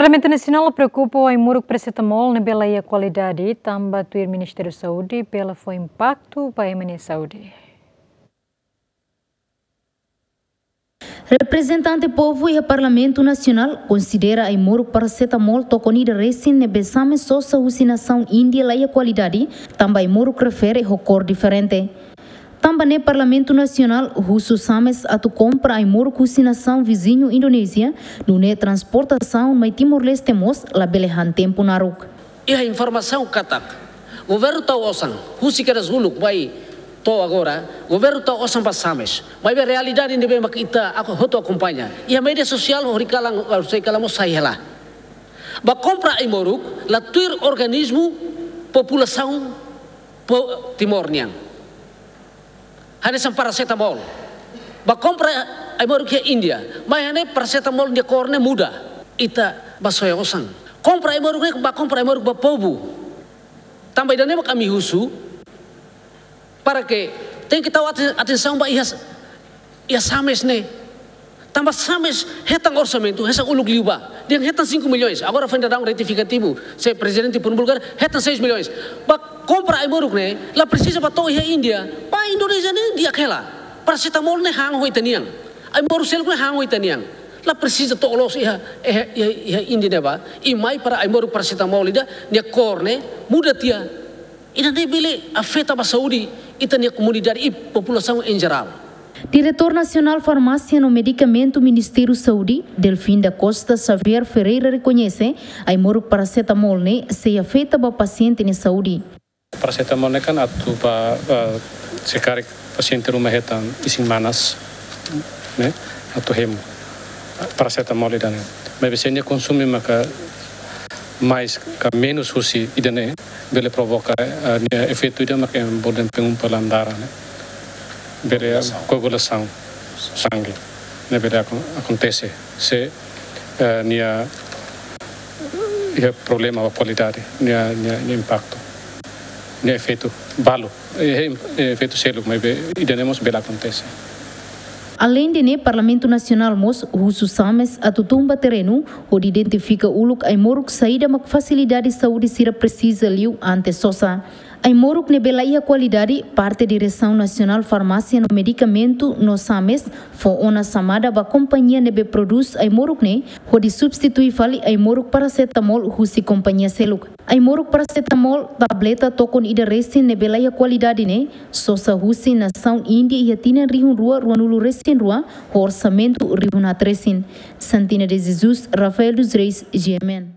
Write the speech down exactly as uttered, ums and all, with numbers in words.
Parlamentu Nasionál preokupa ho ai-moruk parasetamol ne'ebé la iha kualidade, tanba tuir Ministériu Saúde bele fó impaktu ba ema nia saúde. Reprezentante povu iha Parlamentu Nasionál konsidera ai-moruk parasetamol tokon ida resin ne'ebé Xames sosa husi nasaun Índia la iha kualidade, tanba ai-moruk refere ho kór diferente. Tanba ne'e Parlamentu Nasionál husu Xames atu kompra ai-moruk husi nasaun viziñu Indonézia, nune'e transportasaun mai Timor-Leste mós labele han tempu naruk. Iha informasaun katak governu tau osan, husi kedas uluk mai to'o agora, governu tau osan ba Xames. Maibé realidade ne'ebé mak ita ako hotu akompaña iha média sosiál, horikalan, horikalan mós sai hela. Ba kompra ai-moruk la tuir organismu populasaun po-, Timor nian. Hanesan parasetamol. Ba kompra ai-moruk iha Índia. Mai hanesan parasetamol nia kór ne'e muda. Ita ba soe osan. Kompra ai-moruk ne'e, ba kompra ai-moruk ba povu. Tanba ida-ne'e mak ami husu, para ke tenke tau aten-, atensaun ba iha, iha Xames ne'e. Tanba Xames hetan orsamentu, hetan uluk liubá. Dehan hetan cinco milhões. Agora foin daudaun retifikativu, se prezidente promulgar, hetan seis milhões. Ba kompra ai-moruk ne'e, la presiza ba to'o iha Índia. Ba Indonézia ne'e di'ak hela. Parasetamol ne'e han ho ita-nian. Ai-moruk seluk ne'e han ho ita-nian. La presiza to'o loos iha, iha, iha, iha Índia ne'ebá. I mai para ai-moruk parasetamol ida, nia kór ne'e muda tiha. Ida-ne'e bele afeta ba saúde ita-nia komunidade i populasaun em geral. Diretór Nasionál Farmásia no Medikamentu Ministériu Saúde, Delfim da Costa Xavier Ferreira rekoñese, ai-moruk parasetamol ne'e sei afeta ba pasiente nia saúde. Parasetamol ne'e kan atu ba, eh, se karik pasiente ruma hetan isin manas, ne'e, atu hemu parasetamol ida-ne'e. Maibé se nia konsume maka mais ka menus husi ida-ne'e, bele provoka, eh, nia efeitu ida maka em borden pengumpulan darah ne'e. Bele, eh, koagulasaun. Koagulasaun sangue. Ne'e bele akon-, akontese. Se, eh, nia, iha problema ba kualidade, nia, nia, nia impaktu. Nia efeitu balu. Eh, eh, efeitu seluk, maibé ida-ne'e mós bele akontese. Aleinde ne'e, Parlamentu Nasionál mós husu Xames atu tun ba terrenu, hodi identifika uluk ai-moruk saida mak fasilidade saúde sira presiza liu antes sosa. Ai-moruk ne'ebé la iha kualidade, parte Diresaun Nasionál Farmásia no Medikamentu no Xames fó ona xamada ba kompañia ne'ebé prodús ai-moruk ne'e, hodi substitui fali ai-moruk parasetamol husi kompañia seluk. Ai-moruk parasetamol, tableta tokon ida resin ne'ebé la iha kualidade ne'e, sosa husi nasaun Índia iha tinan rihun rua ruanulu resin rua, ho orsamentu rihun haat resin. Santina de Jesus, Rafael dos Reis, G M N.